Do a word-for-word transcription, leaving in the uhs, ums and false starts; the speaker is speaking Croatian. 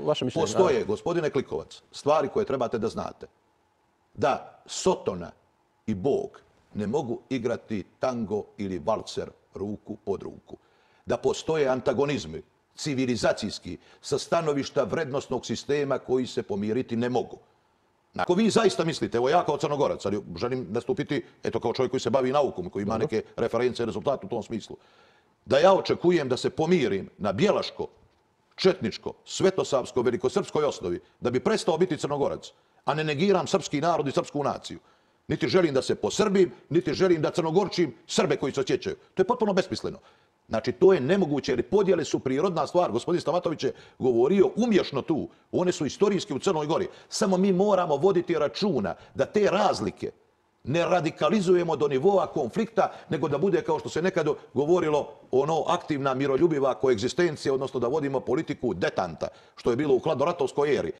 kaže, postoje, gospodine Klikovac, stvari koje trebate da znate. Da Sotona i Bog ne mogu igrati tango ili valcer ruku pod ruku. Da postoje antagonizmi civilizacijski sa stanovišta vrednostnog sistema koji se pomiriti ne mogu. Ako vi zaista mislite, evo ja kao Crnogorac, ali želim nastupiti, eto kao čovjek koji se bavi naukom, koji ima neke reference i rezultate u tom smislu, da ja očekujem da se pomirim na bjelaško, četničko, svetosavsko, velikosrpskoj osnovi, da bi prestao biti Crnogorac, a ne negiram srpski narod i srpsku naciju. Niti želim da se posrbim, niti želim da crnogorčim Srbe koji se osjećaju. To je potpuno besmisleno. Znači, to je nemoguće, jer podjele su prirodna stvar. Gospodin Stamatović je govorio umješno tu. One su istorijski u Crnoj Gori. Samo mi moramo voditi računa da te razlike ne radikalizujemo do nivoa konflikta, nego da bude, kao što se nekad govorilo, ono aktivna, miroljubiva koegzistencija, odnosno da vodimo politiku detanta, što je bilo u hladnoratovskoj eri.